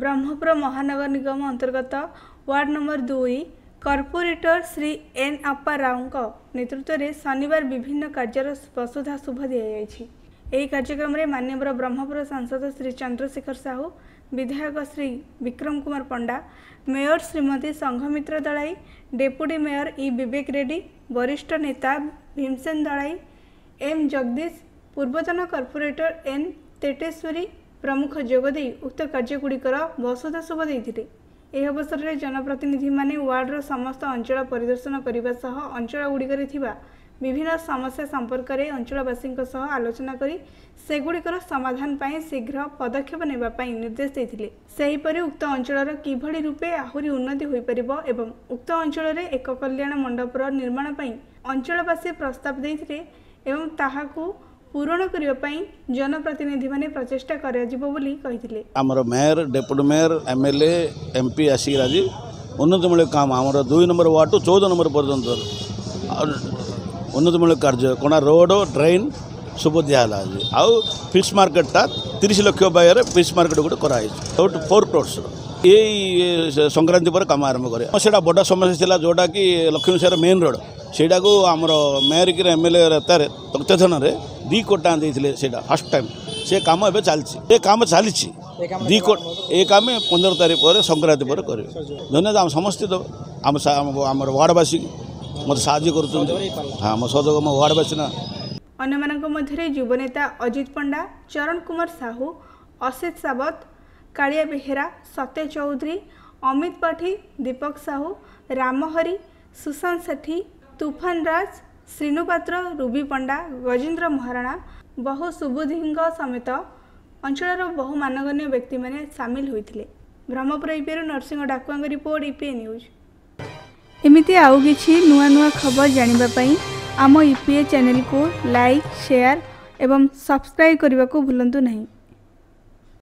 ବ୍ରହ୍ମପୁର ମହାନଗର ନିଗମ ଅନ୍ତର୍ଗତ ward number 2 corporator Shri N Appa ରାଓଙ୍କ ନେତୃତ୍ୱରେ ଶନିବାର ବିଭିନ୍ନ କାର୍ଯ୍ୟର ବସୁଧା ଶୁଭ ଦିଆଯାଇଛି। ଏହି କାର୍ଯ୍ୟକ୍ରମରେ ମାନ୍ୟବର ବ୍ରହ୍ମପୁର ସାଂସଦ ଶ୍ରୀ ଚନ୍ଦ୍ରଶେଖର ସାହୁ, ବିଧାୟକ Shri Bikram Kumar Panda, mayor Shrimati Sanghamitra Dalai, deputy mayor E Bibek Reddy, ବରିଷ୍ଠ ନେତା ଭୀମସେନ ଦଳାଇ, ଏମ୍ ଜଗଦୀଶ, ପୂର୍ବତନ କର୍ପୋରେଟର ଏନ୍ ତେଟେଶ୍ୱରୀ ପ୍ରମୁଖ ଯୋଗଦେଇ ଉକ୍ତ କାର୍ଯ୍ୟଗୁଡ଼ିକର ବସୁଧା ଶୁଭ ଦେଇଥିଲେ। ଏହି ଅବସରରେ ଜନପ୍ରତିନିଧିମାନେ ୱାର୍ଡର ସମସ୍ତ ଅଞ୍ଚଳ ପରିଦର୍ଶନ କରିବା ସହ ଅଞ୍ଚଳଗୁଡ଼ିକରେ ଥିବା ବିଭିନ୍ନ ସମସ୍ୟା ସମ୍ପର୍କରେ ଅଞ୍ଚଳବାସୀଙ୍କ ସହ ଆଲୋଚନା କରି ସେଗୁଡ଼ିକର ସମାଧାନ ପାଇଁ ଶୀଘ୍ର ପଦକ୍ଷେପ ନେବା ପାଇଁ ନିର୍ଦ୍ଦେଶ ଦେଇଥିଲେ। ସେହିପରି ଉକ୍ତ ଅଞ୍ଚଳର କିଭଳି ରୂପେ ଆହୁରି ଉନ୍ନତି ହୋଇପାରିବ ଏବଂ ଉକ୍ତ ଅଞ୍ଚଳରେ ଏକ କଲ୍ୟାଣ ମଣ୍ଡପର ନିର୍ମାଣ ପାଇଁ ଅଞ୍ଚଳବାସୀ ପ୍ରସ୍ତାବ ଦେଇଥିଲେ ଏବଂ ତାହାକୁ ପୂରଣ କରିବା ପାଇଁ ଜନପ୍ରତିନିଧିମାନେ ପ୍ରଚେଷ୍ଟା କରାଯିବ ବୋଲି କହିଥିଲେ। ଆମର mayor, deputy mayor, MLA, MP ଆସିକି ଆଜି ଉନ୍ନତିମୂଳକ କାମ ଆମର 2 ନମ୍ବର ୱାର୍ଡ଼ରୁ 14 ନମ୍ବର ପର୍ଯ୍ୟନ୍ତ ଉନ୍ନତିମୂଳକ କାର୍ଯ୍ୟ କଣା, ରୋଡ଼, ଡ୍ରେନ୍ ସବୁ ଦିଆହେଲା ଆଜି। ଆଉ ଫିସ୍ ମାର୍କେଟଟା 30 ଲକ୍ଷ ବ୍ୟୟରେ ଫିସ୍ ମାର୍କେଟ ଗୋଟେ କରାହେଇଛି, 4 କ୍ରୋର୍ସର। ଏଇ ସଂକ୍ରାନ୍ତି ପରେ କାମ ଆରମ୍ଭ କରିବା। ସେଇଟା ବଡ଼ ସମସ୍ୟା ଥିଲା, ଯେଉଁଟାକି ଲକ୍ଷ୍ମୀସାର ମେନ୍ ରୋଡ଼। ସେଇଟାକୁ ଆମର ମେୟର କି ଏମ୍ ଏଲ୍ ଏ ତାରେ ତତ୍ତ୍ୱାବଧାନରେ 2 କୋଟି ଟଙ୍କା ଦେଇଥିଲେ। ସେଇଟା ଫାର୍ଷ୍ଟ ଟାଇମ୍। ସେ କାମ ଏବେ ଚାଲିଛି, ଏ କାମ ଚାଲିଛି 2 କୋଟି। ଏ କାମ 15 ତାରିଖ ପରେ, ସଂକ୍ରାନ୍ତି ପରେ କରିବେ। ଧନ୍ୟବାଦ ଆମ ସମସ୍ତେ, ଆମ ଆମର ୱାର୍ଡ଼ବାସୀ ମୋତେ ସାହାଯ୍ୟ କରୁଛନ୍ତି। ହଁ, ଆମ ସହଯୋଗ ମୋ ୱାର୍ଡ଼ବାସୀ ନା। ଅନ୍ୟମାନଙ୍କ ମଧ୍ୟରେ ଯୁବନେତା ଅଜିତ ପଣ୍ଡା, ଚରଣ କୁମାର ସାହୁ, ଅସିତ ସାବତ, କାଳିଆ ବେହେରା, ସତ୍ୟ ଚୌଧୁରୀ, ଅମିତ ପାଠୀ, ଦୀପକ ସାହୁ, ରାମହରି, ସୁଶାନ୍ତ ସେଠୀ, ତୁଫାନ ରାଜ, ଶ୍ରୀନୁ ପାତ୍ର, ରୁବି ପଣ୍ଡା, ଗଜେନ୍ଦ୍ର ମହାରଣା, ବହୁ ସୁବୁଧିଙ୍କ ସମେତ ଅଞ୍ଚଳର ବହୁ ମାନଗଣ୍ୟ ବ୍ୟକ୍ତିମାନେ ସାମିଲ ହୋଇଥିଲେ। ବ୍ରହ୍ମପୁର ଇପିଏରୁ ନରସିଂହ ଡାକୁଆଙ୍କ ରିପୋର୍ଟ, ଇପିଏ ନ୍ୟୁଜ୍। ଏମିତି ଆଉ କିଛି ନୂଆ ନୂଆ ଖବର ଜାଣିବା ପାଇଁ ଆମ ଇପିଏ ଚ୍ୟାନେଲକୁ ଲାଇକ୍, ସେୟାର ଏବଂ ସବସ୍କ୍ରାଇବ୍ କରିବାକୁ ଭୁଲନ୍ତୁ ନାହିଁ।